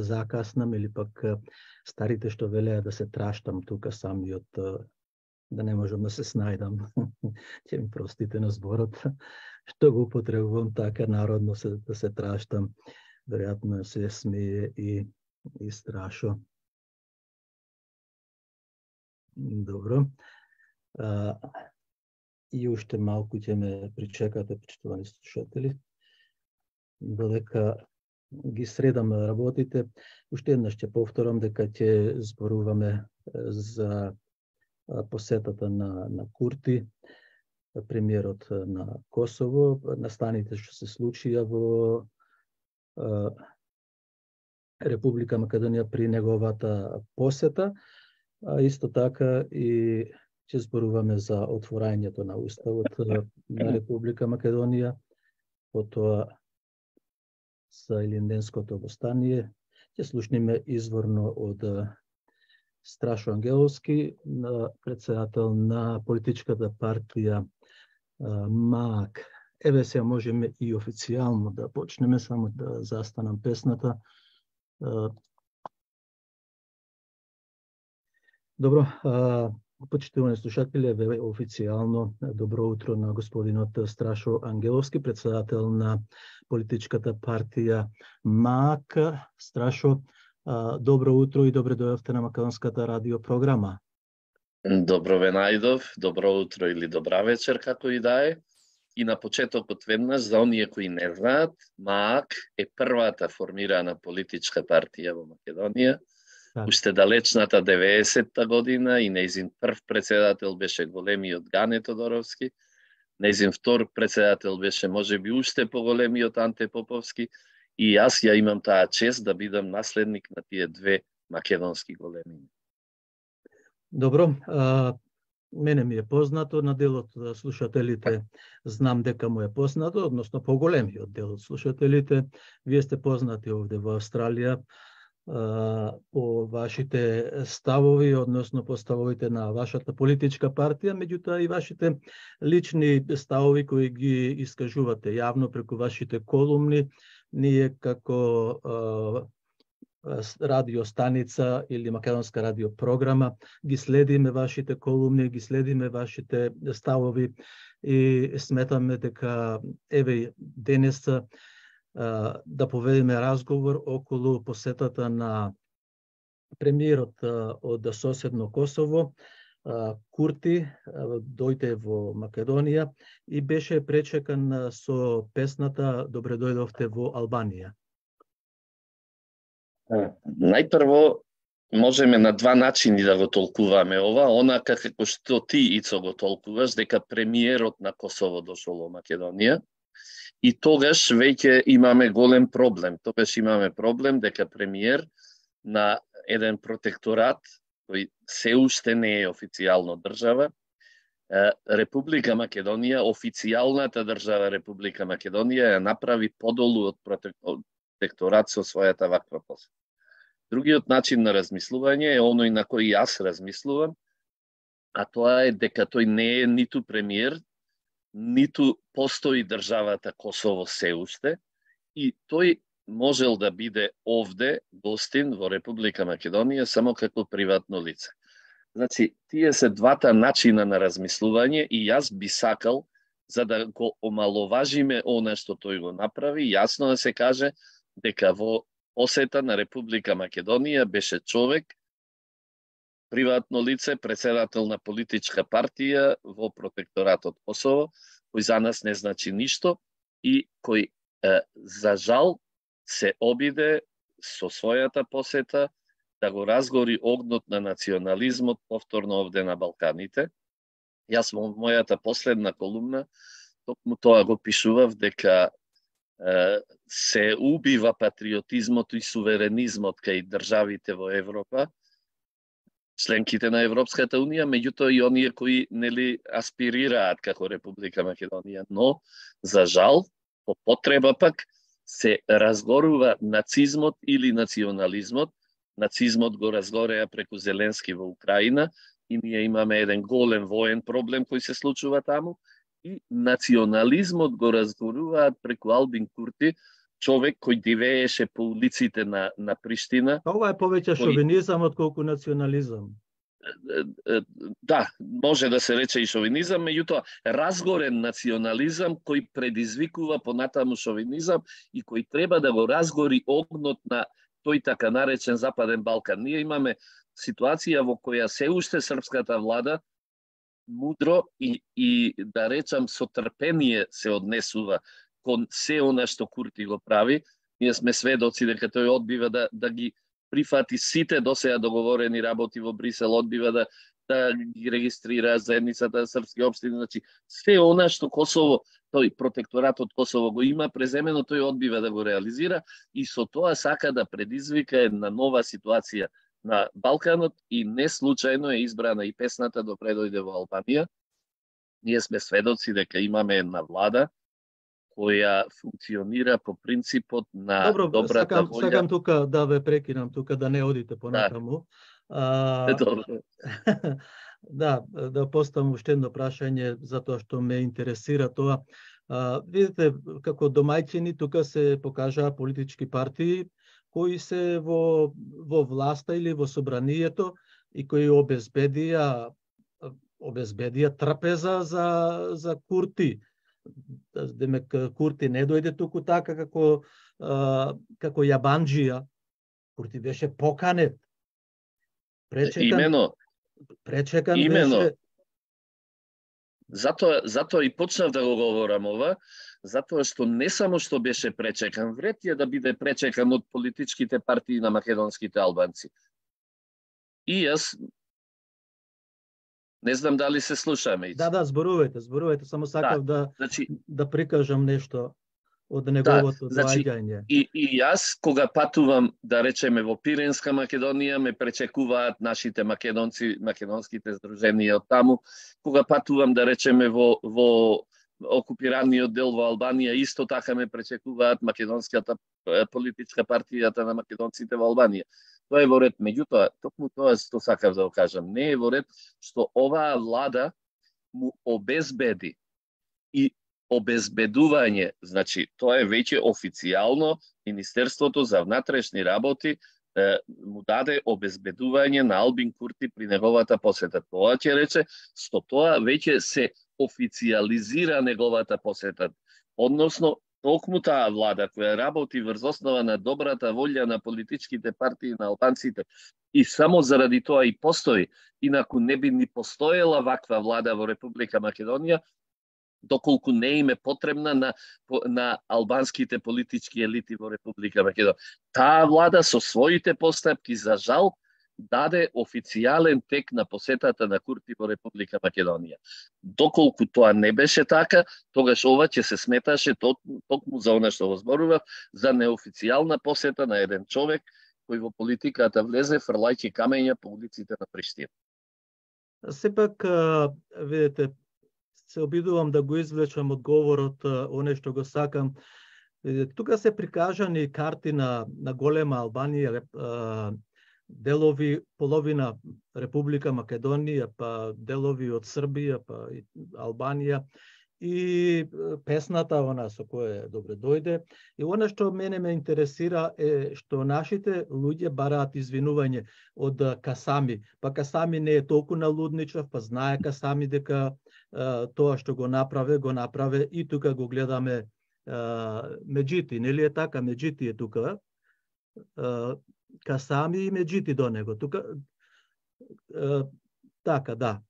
закаснам или пак старите што велеа да се траштам тука самиот, да не можам да се снајдам. Ќе ми простите на зборот, што го употребувам така народно да се траштам. Веројатно се смее и Страшо. Добро. И уште малку ќе ме причекате, почитувани слушатели, додека ги средам работите. Уште еднаш ќе повторам дека ќе зборуваме за посетата на Курти, премиерот на Косово, настаните што се случија во Република Македонија при неговата посета, а исто така и ќе зборуваме за отворањето на Уставот на Република Македонија, потоа за Илинденското востание. Ќе слушнеме изворно од Страшо Ангеловски, председател на политичката партија МААК. Еве сега можеме и официјално да почнеме, само да застанам песната. Добро, почитувани слушатели, еве официјално добро утро на господинот Страшо Ангеловски, председател на политичката партија МААК. Страшо, добро утро и добре дојавте на Македонската радио програма. Добро ве најдов, добро утро или добра вечер, како и да е. И на почетокот веднаш, за оние кои не знаат, МААК е првата формирана политичка партија во Македонија. Уште далечната 90-та година и нејзин прв председател беше големиот Гане Тодоровски, нејзин втор председател беше можеби уште поголемиот Анте Поповски, и јас ја имам таа чест да бидам наследник на тие две македонски големини. Добро, мене ми е познато, на делот слушателите знам дека му е познато, односно поголемиот дел од слушателите. Вие сте познати овде во Австралија по вашите ставови, односно по ставовите на вашата политичка партија, меѓутоа и вашите лични ставови кои ги искажувате јавно преку вашите колумни. Ние како радиостаница или македонска радиопрограма ги следиме вашите колумни, ги следиме вашите ставови и сметаме дека еве денес да поведеме разговор околу посетата на премиерот од соседно Косово, Курти, дојде во Македонија и беше пречекан со песната "Добре дојдовте во Албанија". Најпрво, можеме на два начини да го толкуваме ова. Она како што ти, Ицо, го толкуваш, дека премиерот на Косово дошол во Македонија, и тогаш веќе имаме голем проблем. Тогаш имаме проблем дека премиер на еден протекторат, кој се уште не е официјално држава, Република Македонија, официјалната држава Република Македонија ја направи подолу од протекторат со својата ваква посета. Другиот начин на размислување е оној на кој јас размислувам, а тоа е дека тој не е ниту премиер, ниту постои државата Косово се уште, и тој можел да биде овде гостин во Република Македонија само како приватно лице. Значи, тие се двата начина на размислување и јас би сакал, за да го омаловажиме она што тој го направи, јасно да се каже дека во посета на Република Македонија беше човек, приватно лице, председател на политичка партија во протекторатот Косово, кој за нас не значи ништо и кој, за жал, се обиде со својата посета да го разгори огнот на национализмот повторно овде на Балканите. Јас во мојата последна колумна токму тоа го пишував, дека се убива патриотизмот и суверенизмот кај државите во Европа, членките на Европската Унија, меѓутоа и оние кои нели аспирираат како Република Македонија, но за жал, по потреба пак се разгорува нацизмот или национализмот. Нацизмот го разгореа преку Зеленски во Украина и ние имаме еден голем воен проблем кој се случува таму, и национализмот го разгоруваат преку Албин Курти човек кој дивееше по улиците на Приштина. Ова е повеќе шовинизам отколку национализам. Да, може да се рече и шовинизам, меѓутоа разгорен национализам кој предизвикува понатаму шовинизам и кој треба да го разгори огнот на тој така наречен Западен Балкан. Ние имаме ситуација во која се уште српската влада мудро и да речам со трпение се однесува кон се она што Курти го прави. Ние сме сведоци дека тој одбива да ги прифати сите досега договорени работи во Брисел, одбива да ги регистрира заедницата српски општини, значи се она што Косово, тој протекторатот Косово го има преземено, тој одбива да го реализира и со тоа сака да предизвика една нова ситуација на Балканот и не случајно е избрана и песната допре дојде во Албанија. Ние сме сведоци дека имаме една влада која функционира по принципот на добрата волја. Сакам тука да ве прекинам, тука да не одите понатаму. Да поставам уште едно прашање, затоа што ме интересира тоа. Видите, како домајчини, тука се покажаа политички партии кои се во власта или во собранието и кои обезбедија трпеза за Курти. Демек Курти не дојде туку така како јабанџија. Курти беше поканет. Пречекан беше. Затоа и почнав да го говорам ова, затоа што не само што беше пречекан, вред е да биде пречекан од политичките партии на македонските албанци. И јас не знам дали се слушаме. Да, зборувајте, само сакав да прикажам нешто од неговото доаѓање. И јас, кога патувам, да речеме, во Пиренска Македонија, ме пречекуваат нашите македонци, македонските здруженија од таму. Кога патувам, да речеме, во окупираниот дел во Албанија, исто така ме пречекуваат македонската политичка партијата на македонците во Албанија. Тоа е во ред, меѓутоа, токму тоа што сакав да го кажам, не е во ред што оваа влада му обезбеди и обезбедување, значи тоа е веќе официјално Министерството за внатрешни работи му даде обезбедување на Албин Курти при неговата посета. Тоа ќе рече што тоа веќе се официјализира неговата посета. Односно, токму таа влада која работи врз основа на добрата волја на политичките партии на албанците и само заради тоа и постои, инаку не би ни постоела ваква влада во Република Македонија, доколку не им е потребна на албанските политички елити во Република Македонија. Таа влада со своите постапки, за жал, даде официјален тек на посетата на Курти во Република Македонија. Доколку тоа не беше така, тогаш ова ќе се сметаше токму за она што го зборував, за неофицијална посета на еден човек кој во политиката влезе фрлајќи камења по улиците на Приштина. Сепак, видите, се обидувам да го извлечам одговорот, оне што го сакам. Тука се прикажани карти на голема Албанија, делови, половина Република Македонија, па делови од Србија, па и Албанија, и песната она со која добре дојде. И она што мене ме интересира е што нашите луѓе бараат извинување од Касами. Па Касами не е толку налудничав, па знае Касами дека тоа што го направе и тука го гледаме Меджити, нели е така? Меджити е тука. Касами и Меджити до него. Тука така, да.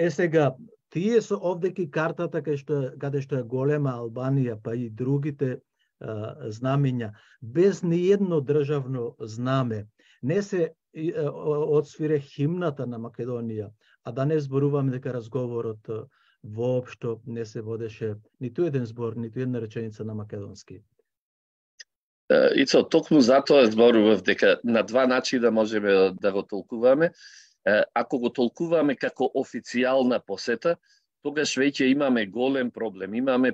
Сега тие со овдеки картата каде што е голема Албанија, па и другите знамења, без ниедно државно знаме, не се одсвире химната на Македонија, а да не зборуваме дека разговорот воопшто не се водеше ниту еден збор, ниту една реченица на македонски. Ицо, токму затоа зборував дека на два начина можеме да го толкуваме. Ако го толкуваме како официјална посета, тогаш веќе имаме голем проблем. Имаме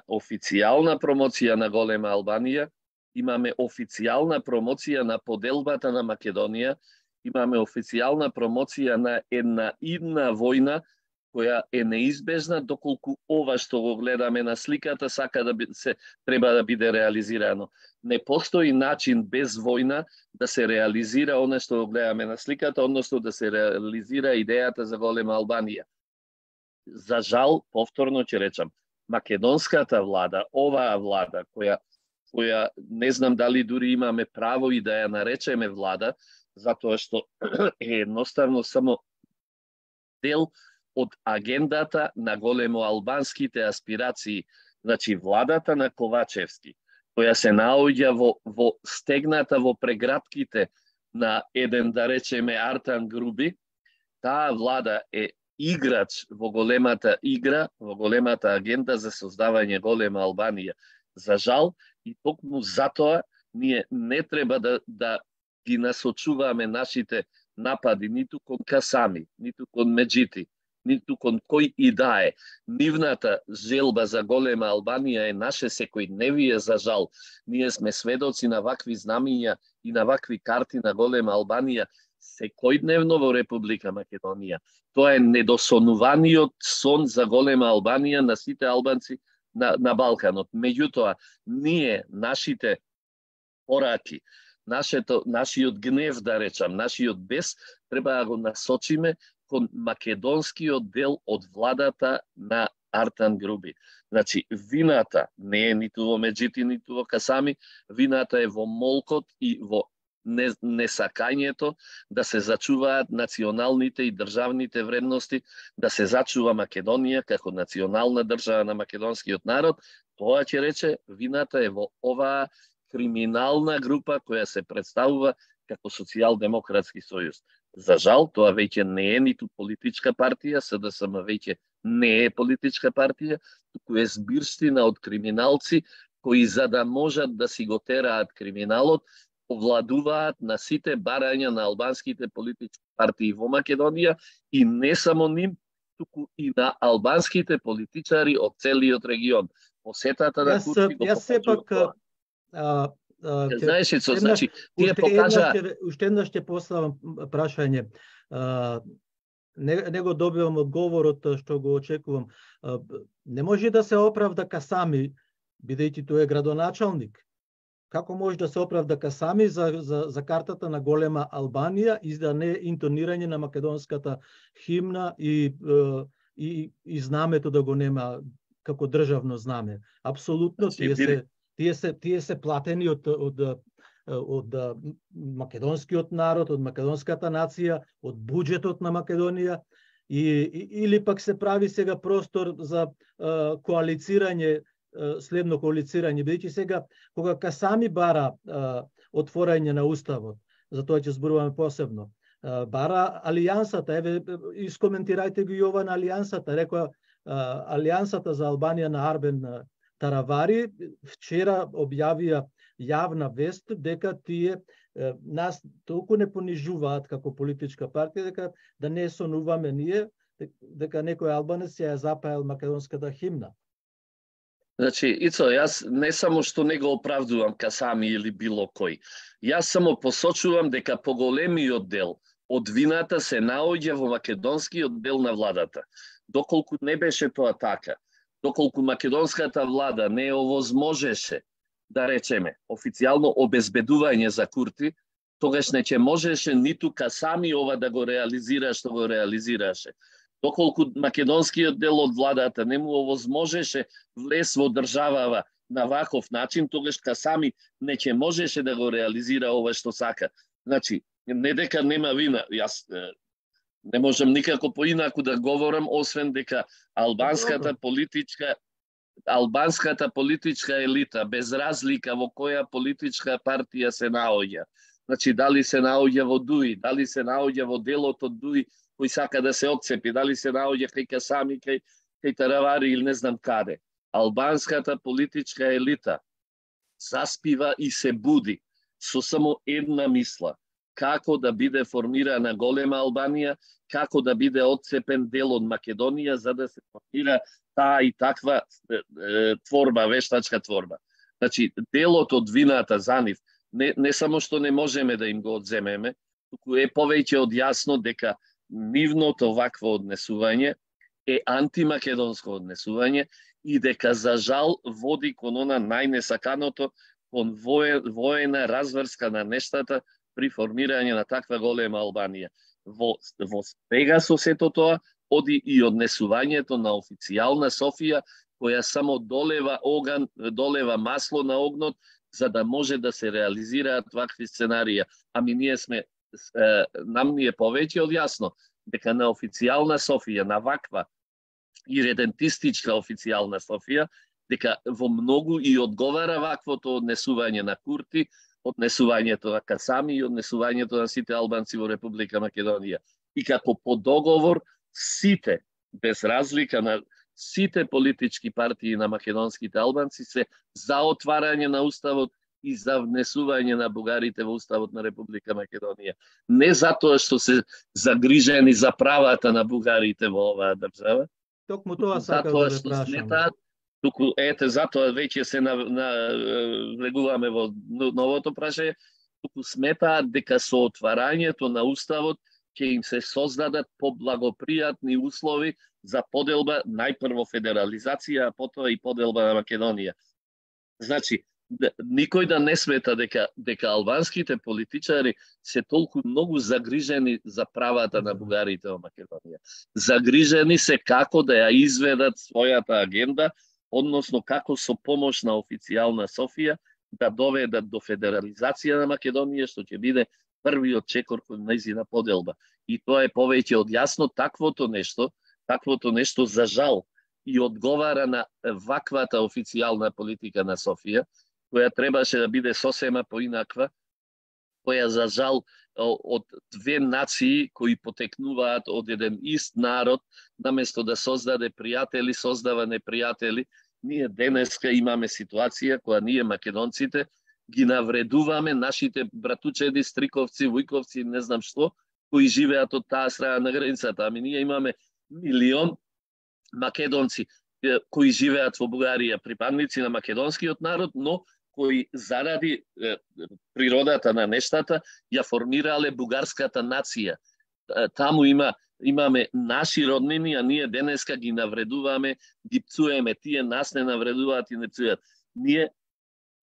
официјална промоција на голема Албанија, имаме официјална промоција на поделбата на Македонија, имаме официјална промоција на една идна војна која е неизбежна доколку ова што го гледаме на сликата треба да биде реализирано. Не постои начин без војна да се реализира она што го гледаме на сликата, односно да се реализира идејата за голема Албанија. За жал, повторно ќе речам, македонската влада, оваа влада која не знам дали дури имаме право и да ја наречеме влада, затоа што е едноставно само дел од агендата на големо албанските аспирации, значи владата на Ковачевски, која се наоѓа во стегната во прегратките на еден, да речеме, Артан Груби, таа влада е играч во големата игра, во големата агенда за создавање голема Албанија. За жал, и токму затоа ние не треба да ги насочуваме нашите напади ниту кон Касами, ниту кон Меджити, ниту кон кој и да е. Нивната желба за голема Албанија е наше секојдневие, за жал. Ние сме сведоци на вакви знамиња и на вакви карти на голема Албанија секојдневно во Република Македонија. Тоа е недосонуваниот сон за голема Албанија на сите албанци на Балканот. Меѓутоа, ние, нашите пораки, нашиот гнев, да речам, нашиот бес, треба да го насочиме кон македонскиот дел од владата на Артан Груби. Значи, вината не е ниту во Меджити, ниту во Касами, вината е во молкот и во несакањето да се зачуваат националните и државните вредности, да се зачува Македонија како национална држава на македонскиот народ. Тоа ќе рече, вината е во оваа криминална група која се представува како Социјалдемократски сојуз. За жал, тоа веќе не е ниту политичка партија, СДСМ веќе не е политичка партија, туку е збирштина од криминалци кои, за да можат да си го тераат криминалот, овладуваат на сите барања на албанските политички партии во Македонија и не само ним, туку и на албанските политичари од целиот регион. Посетата на Курти го покажува. Знаеш, значи, тие покажа... Уште еднаш ќе поставам прашање. Не го добивам одговорот што го очекувам. Не може да се оправда Касами, бидејќи тој е градоначалник. Како може да се оправда Касами за картата на голема Албанија и да не интонирање на македонската химна и знамето да го нема како државно знаме? Апсолутно, тие се платени од македонскиот народ, од македонската нација, од буџетот на Македонија, или пак се прави сега простор за коалицирање, следно коалицирање, бидејќи сега кога Касами бара отворање на уставот, за тоа ќе зборуваме посебно, бара алијансата, еве искоментирајте ги ова на алијансата, рекоа алијансата за Албанија на Арбен Таравари вчера објавија јавна вест дека тие нас толку не понижуваат како политичка партија, дека да не сонуваме ние, дека некој албанец ја запаел македонската химна. Значи, Ицо, јас не само што не го оправдувам Касами или било кој, јас само посочувам дека поголемиот дел од вината се наоѓа во македонскиот дел на владата. Доколку не беше тоа така, доколку македонската влада не овозможеше, да речеме, официјално обезбедување за Курти, тогаш не ќе можеше ниту Касами ова да го реализира што го реализираше. Доколку македонскиот дел од владата не му овозможеше влез во државава на ваков начин, тогаш Касами не ќе можеше да го реализира ова што сака. Значи, не дека нема вина, јас не можам никако поинаку да говорам, освен дека албанската политичка елита, без разлика во која политичка партија се наоѓа, значи дали се наоѓа во ДУИ, дали се наоѓа во делот од ДУИ кој сака да се отцепи, дали се наоѓа кај Касами, кај Таравари или не знам каде. Албанската политичка елита заспива и се буди со само една мисла: како да биде формирана голема Албанија, како да биде отцепен дел од Македонија за да се формира таа и таква творба, вештачка творба. Значи, делот од вината за нив не само што не можеме да им го одземеме, туку е повеќе од јасно дека нивното вакво однесување е антимакедонско однесување и дека за жал води кон она најнесаканото, кон воена разврска на нештата при формирање на таква голема Албанија. Во спрега со сето тоа оди и однесувањето на официјална Софија, која само долева масло на огнот, за да може да се реализираат вакви сценарија. Ами нам ни е повеќе од јасно дека на официјална Софија, на ваква иредентистичка официјална Софија, дека во многу и одговара ваквото однесување на Курти, однесувањето на Касами и однесувањето на сите албанци во Република Македонија. И како по договор сите, без разлика на сите политички партии на македонските албанци, се за отварање на уставот и за внесување на бугарите во уставот на Република Македонија. Не затоа што се загрижени за правата на бугарите во оваа држава, токму тоа сакам да ве прашам. Туку затоа веќе се влегуваме во новото прашање, туку сметаат дека со отварањето на уставот ќе им се создадат поблагопријатни услови за поделба, најпрво федерализација, а потоа и поделба на Македонија. Значи, никој да не смета дека албанските политичари се толку многу загрижени за правата на бугарите во Македонија. Загрижени се како да ја изведат својата агенда, односно како со помош на официјална Софија да доведат до федерализација на Македонија, што ќе биде првиот чекор кон нејзина поделба. И тоа е повеќе од јасно, таквото нешто за жал и одговара на ваквата официјална политика на Софија, која требаше да биде сосема поинаква, која за жал од две нации кои потекнуваат од еден ист народ, наместо да создаде пријатели, создава непријатели. Ние денеска имаме ситуација која ние македонците ги навредуваме нашите братучеди, стриковци, вујковци, не знам што, кои живеат од таа страна на границата. Ами ние имаме милион македонци кои живеат во Бугарија, припадници на македонскиот народ, но кои заради природата на нештата ја формирале бугарската нација. Таму имаме наши роднини, а ние денеска ги навредуваме, ги пцуеме, тие нас не навредуваат и не пцујат. Ние,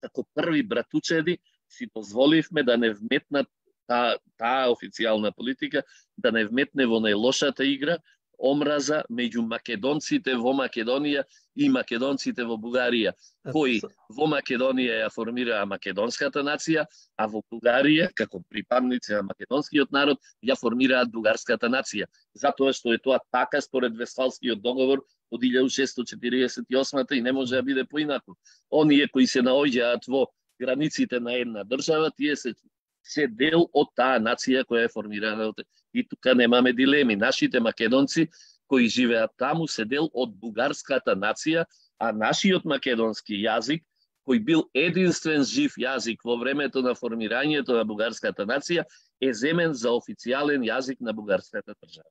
како први братучеди, си дозволивме да не вметнат таа официјална политика, да не вметне во најлошата игра, омраза меѓу македонците во Македонија и македонците во Бугарија, кои во Македонија ја формираа македонската нација, а во Бугарија, како припадници на македонскиот народ, ја формираат бугарската нација. Затоа што е тоа така според Вестфалскиот договор од 1648 и не може да биде поинаку. Оние кои се наоѓаат во границите на една држава, тие се дел од таа нација која е формирана. И тука немаме дилеми. Нашите македонци кои живеат таму се дел од бугарската нација, а нашиот македонски јазик, кој бил единствен жив јазик во времето на формирањето на бугарската нација, е земен за официјален јазик на бугарската држава.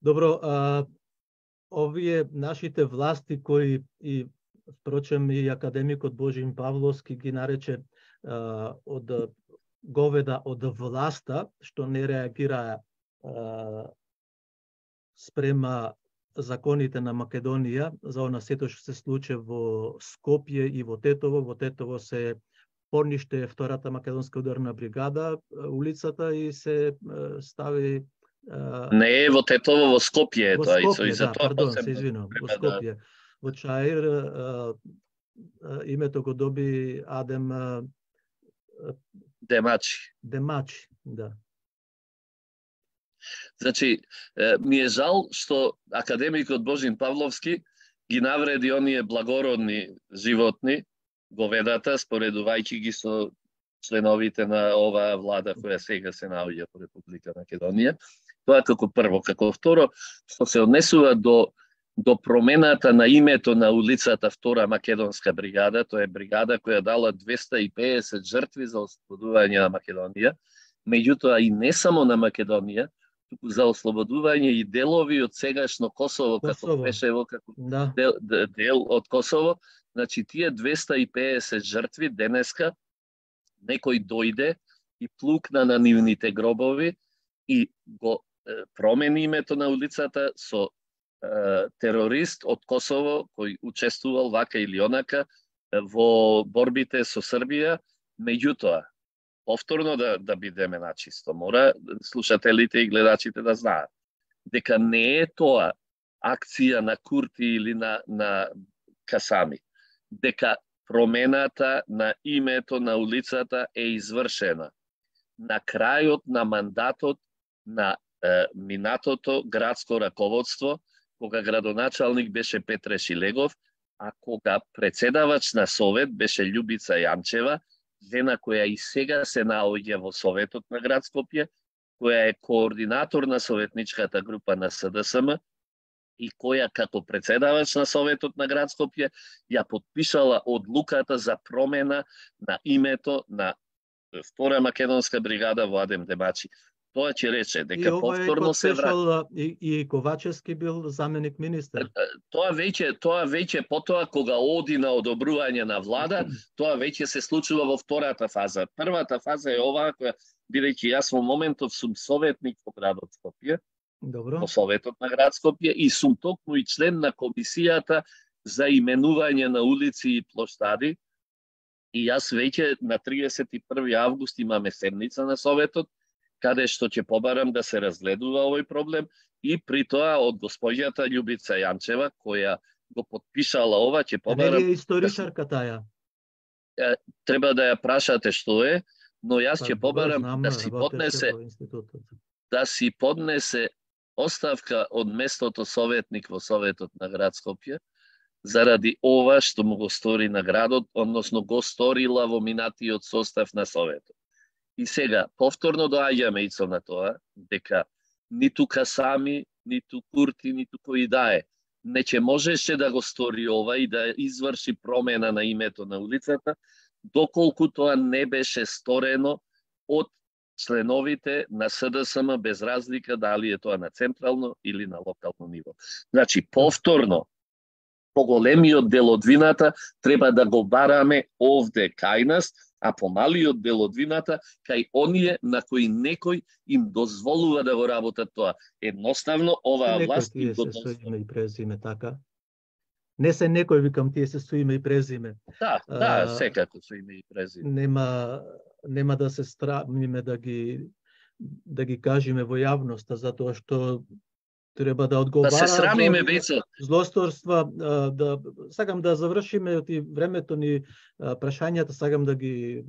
Добро, овие нашите власти кои и впрочем и академикот Божин Павловски ги нарече од говеда од власта, што не реагираа спрема законите на Македонија за она сето што се случи во Скопје и во Тетово. Во Тетово се пониште втората македонска ударна бригада улицата и се стави Не е во Тетово, во Скопје е тоа. Се извинувам, во Скопје. Во Чаир името го доби Адем Демачи, да. Значи, ми е жал што академикот Божин Павловски ги навреди оние благородни животни, говедата, споредувајќи ги со членовите на оваа влада која сега се наоѓа во Република Македонија. Тоа како прво. Како второ, што се однесува до промената на името на улицата Втора македонска бригада, тоа е бригада која дала 250 жртви за ослободување на Македонија, меѓутоа и не само на Македонија, туку за ослободување и делови од сегашно Косово, како беше како дел од Косово. Значи, тие 250 жртви денеска некој дојде и плукна на нивните гробови и го промени името на улицата со терорист од Косово кој учествувал вака или онака во борбите со Србија, меѓутоа повторно да бидеме начисто. Мора слушателите и гледачите да знаат дека не е тоа акција на Курти или на Касами, дека промената на името на улицата е извршена на крајот на мандатот на минатото градско раководство, кога градоначалник беше Петре Шилегов, а кога председавач на Совет беше Љубица Јанчева, жена која и сега се наоѓа во Советот на град Скопје, која е координатор на советничката група на СДСМ и која како председавач на Советот на град Скопје ја подпишала одлуката за промена на името на Втора македонска бригада во Адем Демачи. Тоа ќе рече дека повторно се враќа. И Ковачевски бил заменик министер. Тоа веќе потоа кога оди на одобрување на влада, тоа веќе се случува во втората фаза. Првата фаза е оваа која, бидејќи јас во моментов сум советник во градот Скопје, во Советот на град Скопје и сум токму и член на комисијата за именување на улици и плоштади. И јас веќе на 31 август имаме седница на Советот, каде што ќе побарам да се разгледува овој проблем и при тоа од госпоѓата Љубица Јанчева, која го подпишала ова, ќе побарам... Не е историчарка таја? Треба да ја прашате што е, но јас ќе побарам да си поднесе оставка од местото советник во Советот на град Скопје, заради ова што му го стори на градот, односно го сторила во минатиот состав на Советот. И сега, повторно доаѓаме ицо на тоа, дека ниту Касами, ниту Курти, ниту кој да е, не ќе можеше да го стори ова и да изврши промена на името на улицата, доколку тоа не беше сторено од членовите на СДСМ без разлика дали е тоа на централно или на локално ниво. Значи, повторно, поголемиот дел од вината треба да го бараме овде кај нас, а помалиот дел од вината кај оние на кои некој им дозволува да го работат тоа. Едноставно, оваа власт им го дозволува. Име и презиме, така? Не се некој, викам, тие се со име и презиме. Да, секако со име и презиме. Нема да се страмиме да ги кажеме во јавноста, затоа што треба да одговара. Да се срамиме, Бецо. Злосторства, сакам да завршиме од времето ни прашањата, сакам да ги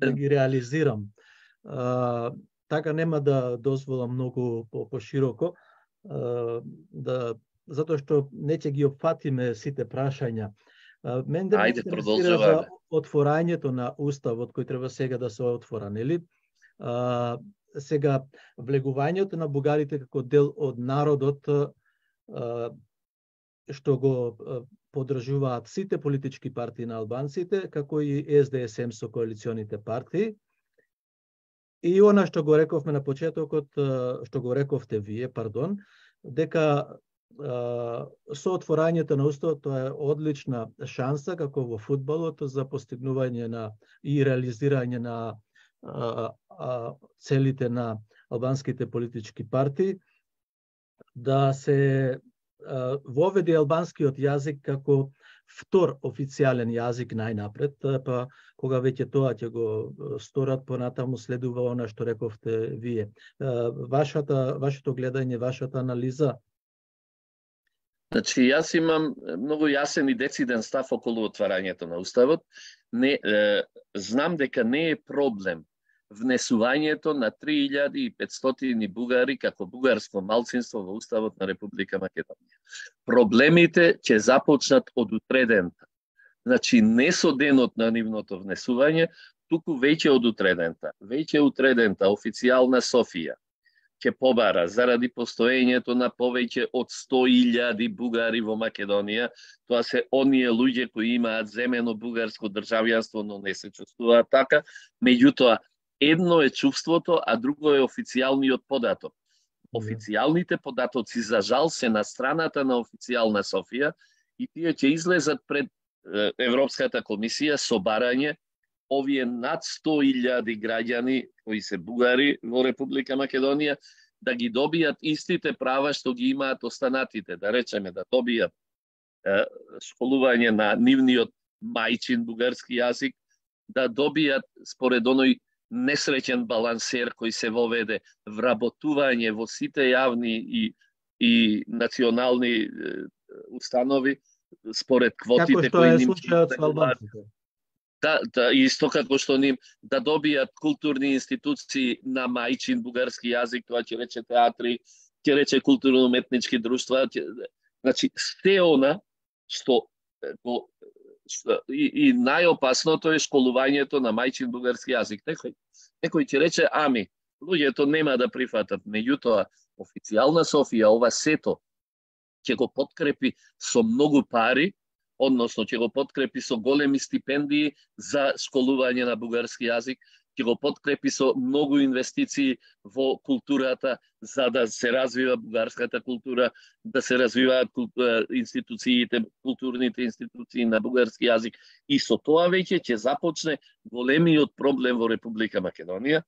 реализирам. Така нема да дозволам многу пошироко, затоа што не ќе ги опфатиме сите прашања. Мен да ме интересира за отворањето на уставот кој треба сега да се отвора, нели? Сега, влегувањето на бугарите како дел од народот, што го поддржуваат сите политички партии на албанците, како и СДСМ со коалиционите партии. И она што го рековме на почетокот, што го рековте вие, дека со отворањето на уставот тоа е одлична шанса, како во фудбалот, за постигнување и реализирање на целите на албанските политички партии, да се воведе албанскиот јазик како втор официјален јазик најнапред, па кога веќе тоа ќе го сторат, понатаму следува она што рековте вие. Вашето гледање, вашата анализа? Значи, јас имам многу јасен и дециден став околу отварањето на уставот. Знам дека не е проблем внесувањето на 3500 бугари како бугарско малцинство во уставот на Република Македонија. Проблемите ќе започнат од утредента. Значи, не со денот на нивното внесување, туку веќе од утредента. Веќе утредента официјална Софија ќе побара заради постоењето на повеќе од 100.000 бугари во Македонија. Тоа се оние луѓе кои имаат земено бугарско државјанство, но не се чувствуваат така. Меѓутоа, едно е чувството, а друго е официјалниот податок. Официјалните податоци, за жал, се на страната на официјална Софија и тие ќе излезат пред Европската комисија со барање овие над 100.000 граѓани кои се бугари во Република Македонија да ги добијат истите права што ги имаат останатите, да речеме да добијат школување на нивниот мајчин бугарски јазик, да добијат според оној несреќен балансер кој се воведе, вработување во сите јавни и национални установи според квотите кои ним да, исто како што ним да добијат културни институции на мајчин бугарски јазик, тоа ќе рече театри, ќе рече културно-уметнички друштва, значи се она што и најопасното е школувањето на мајчин бугарски јазик. Некој ќе рече, ами, луѓето нема да прифатат, меѓутоа официјална Софија ова сето ќе го подкрепи со многу пари, односно ќе го подкрепи со големи стипендии за школување на бугарски јазик, ќе го подкрепи со многу инвестиции во културата за да се развива бугарската култура, да се развиваат институциите, културните институции на бугарски јазик и со тоа веќе ќе започне големиот проблем во Република Македонија.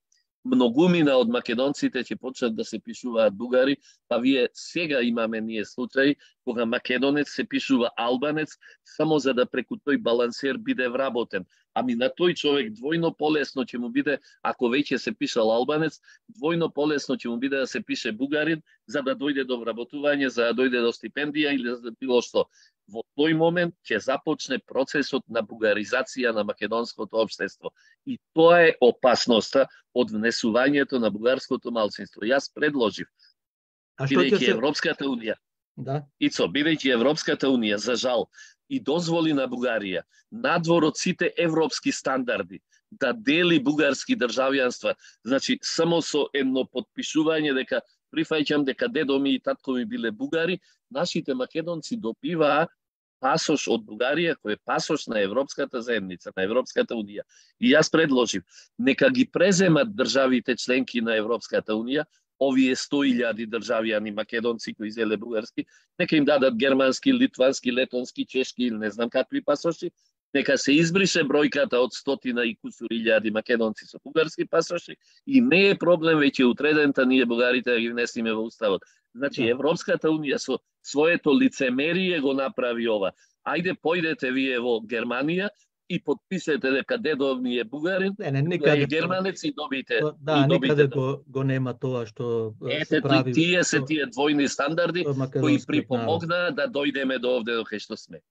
Многумина од македонците ќе почнат да се пишуваат бугари, па вие сега имаме ние случаи кога македонец се пишува албанец само за да преку тој балансер биде вработен. Ами на тој човек двојно полесно ќе му биде, ако веќе се пишал албанец, двојно полесно ќе му биде да се пише бугарин за да дојде до вработување, за да дојде до стипендија или за да било што. Во тој момент ќе започне процесот на бугаризација на македонското општество. И тоа е опасноста од внесувањето на бугарското малцинство. Јас предложив, бидејќи Европската унија, бидејќи Европската унија, за жал, и дозволи на Бугарија, надвор од сите европски стандарди, да дели бугарски државјанства, значи само со едно подпишување дека прифаќам дека дедо ми и татко ми биле бугари, нашите македонци добиваа пасош од Бугарија, кој е пасош на Европската заедница, на Европската унија. И јас предложив, нека ги преземат државите членки на Европската унија, овие 100.000 државјани македонци кои зеле бугарски, нека им дадат германски, литвански, летонски, чешки или не знам какви пасоши, нека се избрише бројката од 100 и кусур илјади македонци со бугарски пасоши и не е проблем веќе утредента ние бугарите да ги внесиме во уставот. Значи Европската унија со своето лицемерие го направи ова. Ајде појдете вие во Германија и подписете дека дедов ни е бугарин, никаде германец и добите. Да, никаде го нема тоа што се прави. Тие се тие двојни стандарди кои припомогнаа да дојдеме до овде до кај што сме.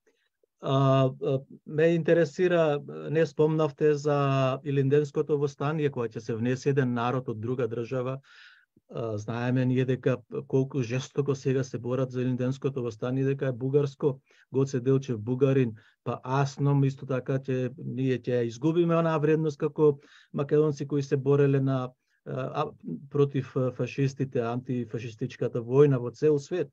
Ме интересира, не спомнавте за Илинденското востание, кога ќе се внесе еден народ од друга држава. Знаеме ние дека колку жестоко сега се борат за Илинденското востание, дека е бугарско. Гоце Делчев бугарин, па Асном исто така ние ќе изгубиме онаа вредност како македонци кои се бореле против фашистите, антифашистичката војна во цел свет.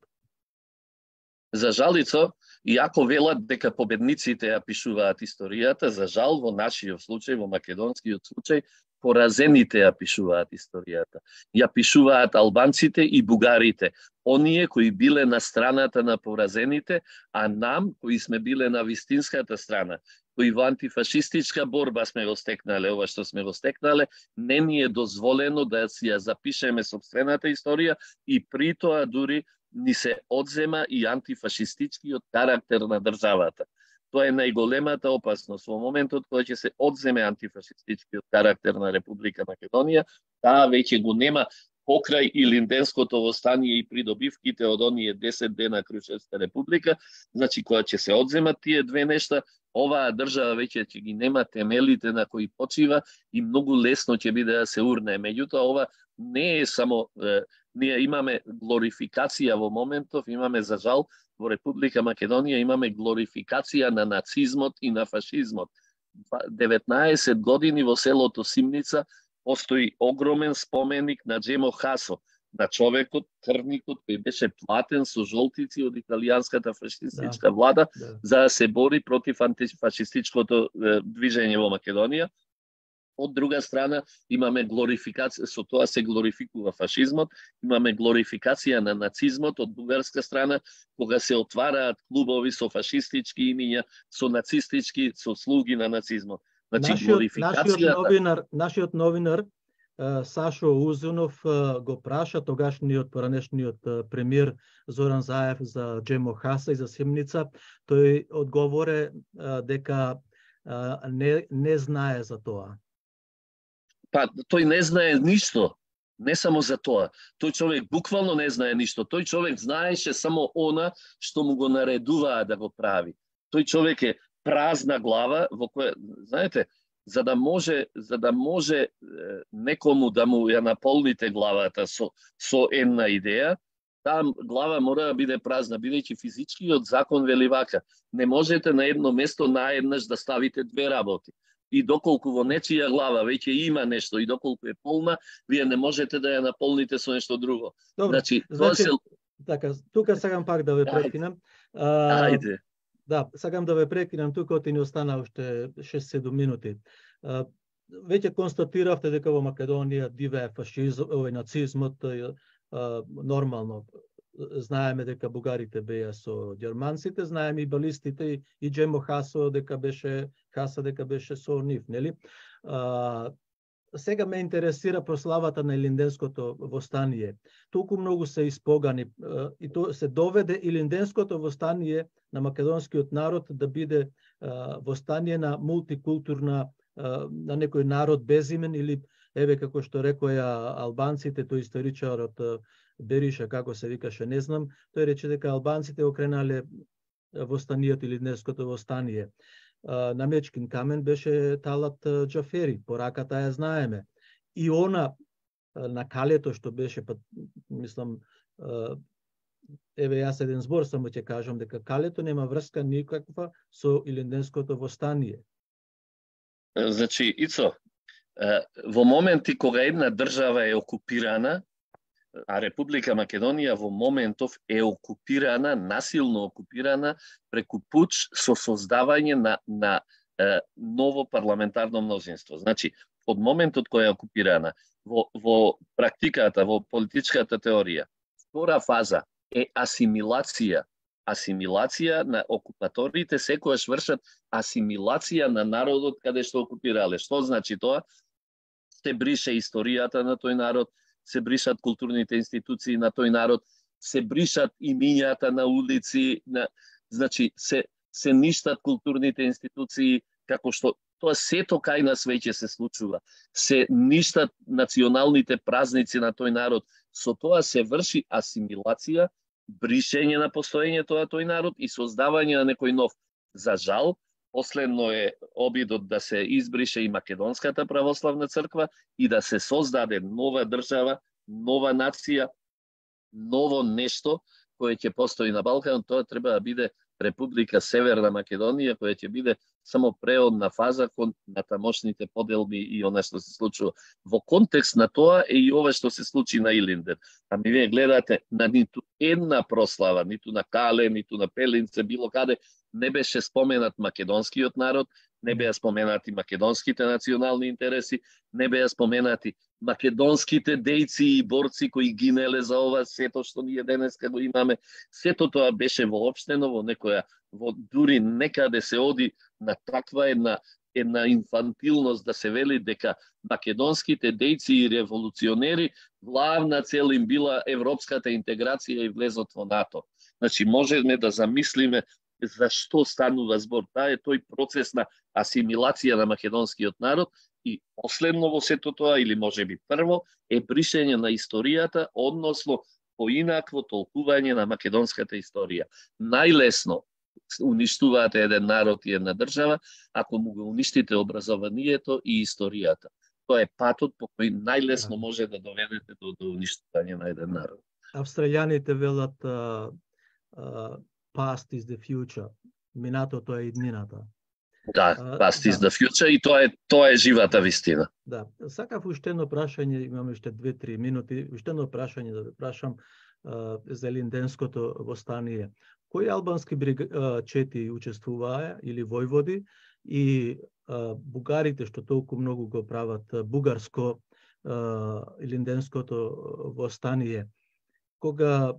За жалицо, иако велат дека победниците ја пишуваат историјата, за жал во нашиот случај, во македонскиот случај, поразените ја пишуваат историјата. Ја пишуваат албанците и бугарите, оние кои биле на страната на поразените, а нам, кои сме биле на вистинската страна, кои во антифашистичка борба сме го стекнале, ова што сме го стекнале, не ни е дозволено да си ја запишеме сопствената историја и при тоа дури ни се одзема и антифашистичкиот карактер на државата. Тоа е најголемата опасност. Во моментот кога ќе се одземе антифашистичкиот карактер на Република Македонија, таа веќе го нема покрај Илинденското востание и придобивките од оние 10 дена Крушевска република, значи кога ќе се одземат тие две нешта, оваа држава веќе ќе ги нема темелите на кои почива и многу лесно ќе биде да се урне. Меѓутоа, ова не е само ние имаме глорификација во моментов, имаме за жал во Република Македонија имаме глорификација на нацизмот и на фашизмот. 19 години во селото Симница постои огромен споменик на Джемо Хасо, на човекот, крвникот кој беше платен со жолтици од италијанската фашистичка влада за да се бори против антифашистичкото движење во Македонија. Од друга страна, имаме глорификација, со тоа се глорификува фашизмот, имаме глорификација на нацизмот од бугарска страна, кога се отвараат клубови со фашистички имиња, со нацистички, со слуги на нацизмот. Значи, нашиот новинар Сашо Узунов го праша тогашниот поранешниот премиер Зоран Заев за Джемо Хаса и за Семница. Тој одговоре дека не знае за тоа. Па, тој не знае ништо. Не само за тоа. Тој човек буквално не знае ништо. Тој човек знаеше само она што му го наредуваа да го прави. Тој човек е празна глава во која, знаете, за да може некому да му ја наполните главата со една идеја, таа глава мора да биде празна, бидејќи физичкиот закон вели вака: не можете на едно место наеднаш да ставите две работи. И доколку во нечија глава веќе има нешто и доколку е полна, вие не можете да ја наполните со нешто друго. Добро, значи, така, тука сакам пак да ве прекинам. Ајде. Да, сакам да ве прекинам тука, оти ни остана уште 6-7 минути. Веќе констатиравте дека во Македонија дивее фашизм, нацизмот, нормално. Знаеме дека бугарите беа со ѓерманците, знаеме и балистите и Джемо Хаса дека беше со нив, нели? Сега ме интересира прославата на Илинденското востание. Толку многу се испогани и то се доведе Илинденското востание на македонскиот народ да биде востание на мултикултурна, на некој народ безимен, или еве како што рекоја албанците, тој историчарот Бериша, како се викаше, не знам, тој рече дека албанците окренале востанието Илинденското востание. На Мечкин камен беше Талат Џафери, пораката ја знаеме. И она на Калето што беше, мислам, еве јас еден збор само ќе кажам, дека Калето нема врска никаква со Илинденското востание. Значи, Ицо, во моменти кога една држава е окупирана, а Република Македонија во моментов е окупирана, насилно окупирана, преку пуч со создавање на ново парламентарно мнозинство. Значи, од моментот кој е окупирана, во практиката, во политичката теорија, втора фаза е асимилација. Асимилација на окупаторите, секојаш вршат асимилација на народот каде што окупирале. Што значи тоа? Се брише историјата на тој народ, се бришат културните институции на тој народ, се бришат имињата на улици, значи се ништат културните институции, како што тоа сето кај нас веќе се случува. Се ништат националните празници на тој народ. Со тоа се врши асимилација, бришење на постоењето на тој народ и создавање на некој нов. За жал, последно е обидот да се избрише и Македонската православна црква и да се создаде нова држава, нова нација, ново нешто кое ќе постои на Балкан. Тоа треба да биде Република Северна Македонија, која ќе биде само преодна фаза кон натамошните поделби и она што се случува. Во контекст на тоа е и ова што се случи на Илинден. Ами вие гледате, на ниту една прослава, ниту на Кале, ниту на Пелинце, било каде, не беше споменат македонскиот народ, не беа споменати македонските национални интереси, не беа споменати македонските дејци и борци кои гинеле за ова, сето што ние денеска го имаме. Сето тоа беше воопштено во некоја, дури некаде се оди на таква една инфантилност да се вели дека македонските дејци и револуционери главна цел им била европската интеграција и влезот во НАТО. Значи можеме да замислиме за што станува збор. Таа е тој процес на асимилација на македонскиот народ и последно во сето тоа, или можеби прво, е бришење на историјата, односно поинакво толкување на македонската историја. Најлесно уништуваате еден народ и една држава ако му го уништите образованието и историјата. Тоа е патот по кој најлесно може да доведете до уништување на еден народ. Австралијаните велат past is the future. Минатото е иднината. Да, past is the future и тоа е живата вистина. Да, сакав уште едно прашање, имаме уште 2-3 минути, уште едно прашање да ве прашам за Илинденското востание. Кои албански чети учествуваа или војводи и бугарите што толку многу го прават бугарско Илинденското востание? Кога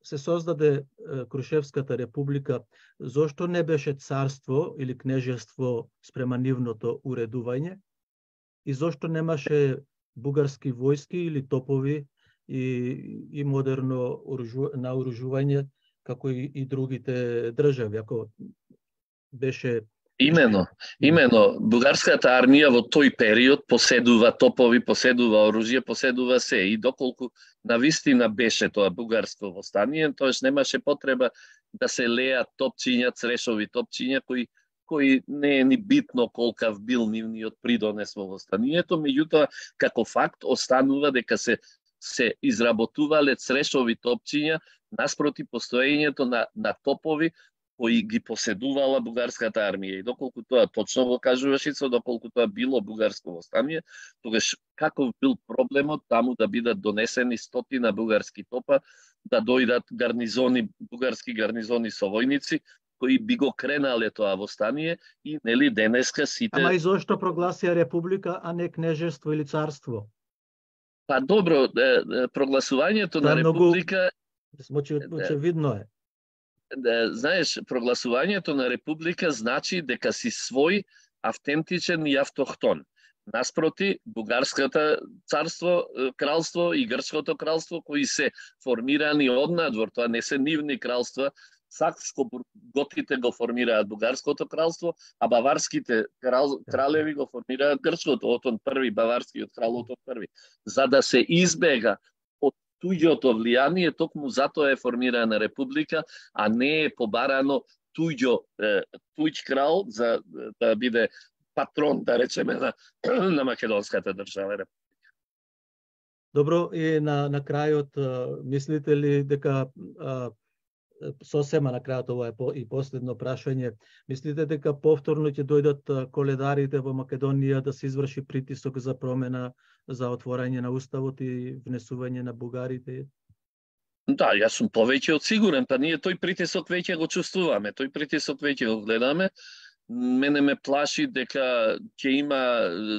се создаде Крушевската република, зошто не беше царство или кнежество спрема нивното уредување? И зошто немаше бугарски војски или топови и модерно наоружување како и другите држави. Ако беше Имено, бугарската армија во тој период поседува топови, поседува оружје, поседува се, и доколку навистина беше тоа бугарско востание, тоеш немаше потреба да се леат топчиња, црешови топчиња кои не е ни битно колкав бил нивниот придонес во востанието, меѓутоа како факт останува дека се изработувале црешови топчиња наспроти постоењето на топови кои ги поседувала бугарската армија. И доколку тоа точно го кажуваш, доколку тоа било бугарско востание, тогаш каков бил проблемот таму да бидат донесени стотина бугарски топа, да дојдат бугарски гарнизони со војници, кои би го кренале тоа востание и нели денеска сите... Ама и зошто прогласија република, а не кнежество или царство? Па добро, прогласувањето на република... Очевидно е. Знаеш, прогласувањето на република значи дека си свој, автентичен и автохтон. Наспроти, бугарската царство, кралство и грчкото кралство, кои се формирани однадвор, тоа не се нивни кралства, Сакско-готите го формираат бугарското кралство, а баварските кралеви го формираат грчкото, Отон први, баварскиот крал Отон први. За да се избега од туѓото влијание, токму затоа е формирана република, а не е побарано туѓ крал за да биде патрон, да речеме, на македонската држава. Добро, и на крајот, мислите ли дека сосема на крајот, ова е и последно прашање, мислите дека повторно ќе дојдат коледарите во Македонија да се изврши притисок за промена, за отворање на уставот и внесување на бугарите? Да, јас сум повеќе од сигурен, па ние тој притисок веќе го чувствуваме, тој притисок веќе го гледаме. Мене ме плаши дека ќе има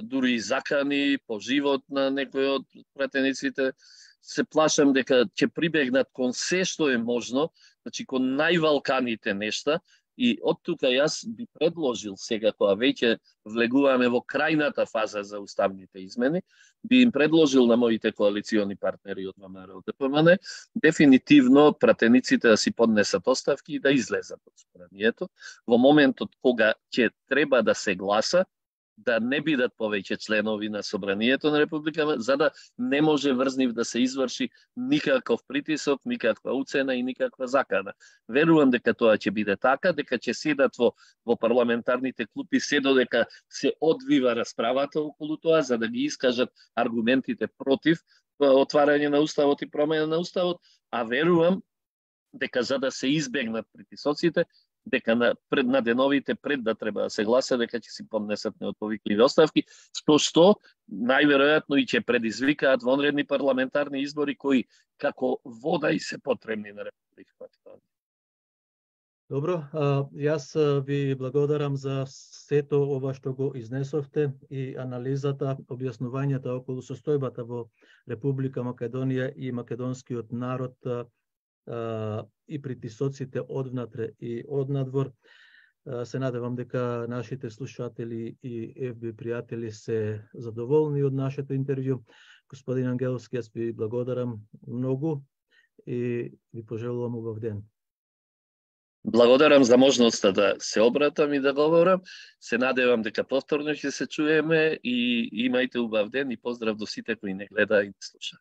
дури и закани по живот на некој од пратениците. Се плашам дека ќе прибегнат кон се што е можно, значи кон највалканите нешта, и од тука јас би предложил сега, кога веќе влегуваме во крајната фаза за уставните измени, би им предложил на моите коалициони партнери од ВМРО ДПМН, дефинитивно пратениците да си поднесат оставки и да излезат од собранието. Во моментот кога ќе треба да се гласа, да не бидат повеќе членови на собранието на Република, за да не може врз нив да се изврши никаков притисок, никаква уцена и никаква закана. Верувам дека тоа ќе биде така, дека ќе седат во парламентарните клупи се додека се одвива расправата околу тоа, за да ги искажат аргументите против отварање на уставот и промена на уставот, а верувам дека за да се избегнат притисоците, дека на деновите пред да треба да се гласа, дека ќе си поднесат неотповикливи оставки, што најверојатно и ќе предизвикаат вонредни парламентарни избори кои како вода и се потребни на Републиката. Добро, јас ви благодарам за сето ова што го изнесовте и анализата, објаснувањата околу состојбата во Република Македонија и македонскиот народ и притисоците одвнатре и однадвор. Се надевам дека нашите слушатели и FB пријатели се задоволни од нашето интервју. Господин Ангеловски, јас ви благодарам многу и ви пожелувам убав ден. Благодарам за можноста да се обратам и да говорам. Се надевам дека повторно ќе се чуеме и имајте убав ден и поздрав до сите кои не гледа и не слуша.